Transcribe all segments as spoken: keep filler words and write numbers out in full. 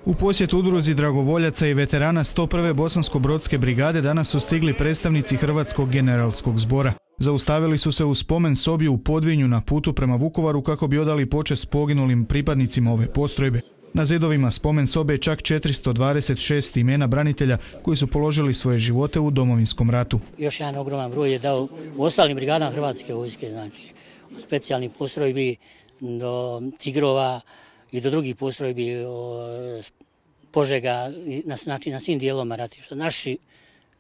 U posjet udruzi dragovoljaca i veterana sto prve Bosansko-brodske brigade danas su stigli predstavnici Hrvatskog generalskog zbora. Zaustavili su se u spomen sobi u Podvinju na putu prema Vukovaru kako bi odali počast poginulim pripadnicima ove postrojbe. Na zidovima spomen sobe je čak četiristo dvadeset šest imena branitelja koji su položili svoje živote u Domovinskom ratu. Još jedan ogroman broj je dao u ostalim brigadama Hrvatske vojske, znači od specijalnih postrojbi do Tigrova i do drugih postrojbi Požega, znači na svim dijelovima ratišta. Naši,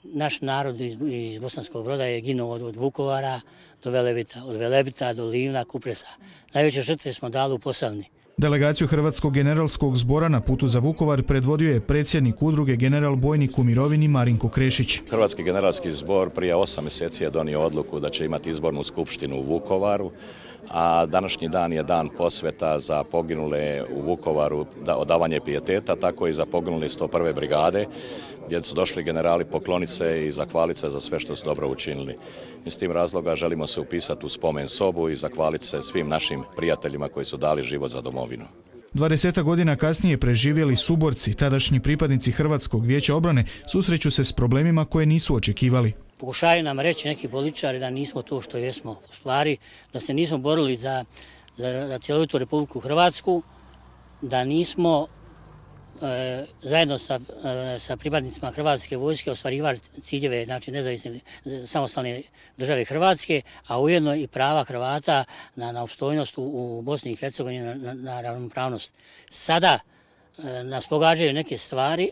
naš narod iz, iz Bosanskog Broda je ginuo od, od Vukovara do Velebita, od Velebita do Livna, Kupresa. Najveće žrtve smo dali u Posavini. Delegaciju Hrvatskog generalskog zbora na putu za Vukovar predvodio je predsjednik udruge general bojnik u mirovini Marinko Krešić. Hrvatski generalski zbor prije osam mjeseci je donio odluku da će imati izbornu skupštinu u Vukovaru, a današnji dan je dan posveta za poginule u Vukovaru, da odavanje pijeteta, tako i za poginule sto prve brigade, gdje su došli generali pokloniti se i zahvaliti se za sve što su dobro učinili. Iz tim razloga želimo se upisati u spomen sobu i zahvaliti se svim našim prijateljima koji su dali život za domovinu. dvadeset godina kasnije preživjeli suborci, tadašnji pripadnici Hrvatskog vijeća obrane, susreću se s problemima koje nisu očekivali. Pokušaju nam reći neki političari da nismo to što jesmo u stvari, da se nismo borili za, za, za cjelovitu Republiku Hrvatsku, da nismo e, zajedno sa, e, sa pripadnicima Hrvatske vojske ostvarivali ciljeve, znači nezavisne samostalne države Hrvatske, a ujedno i prava Hrvata na, na opstojnost u, u Bosni i Hercegovini, na, na, na ravnopravnost. Sada e, nas pogađaju neke stvari,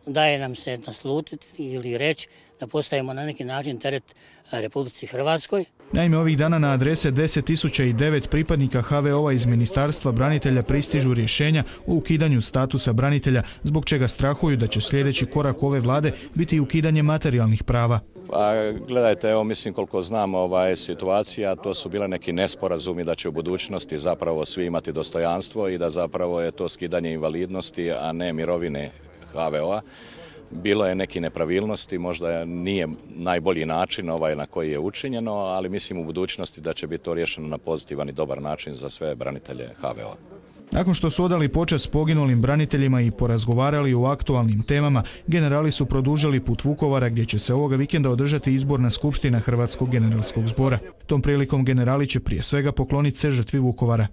daje nam se naslutiti ili reći da postajemo na neki način teret Republici Hrvatskoj. Naime, ovih dana na adrese deset tisuća devet pripadnika ha ve o-a iz Ministarstva branitelja pristižu rješenja o ukidanju statusa branitelja, zbog čega strahuju da će sljedeći korak ove vlade biti ukidanje materijalnih prava. Pa, gledajte, evo mislim koliko znam ovaj situacija, to su bile neki nesporazumi da će u budućnosti zapravo svi imati dostojanstvo i da zapravo je to skidanje invalidnosti, a ne mirovine ha ve o-a. Bilo je neki nepravilnosti, možda nije najbolji način ovaj na koji je učinjeno, ali mislim u budućnosti da će biti to riješeno na pozitivan i dobar način za sve branitelje ha ve o-a. Nakon što su odali počast poginulim braniteljima i porazgovarali o aktualnim temama, generali su produžili put Vukovara gdje će se ovoga vikenda održati izborna skupština Hrvatskog generalskog zbora. Tom prilikom generali će prije svega pokloniti se žrtvi Vukovara.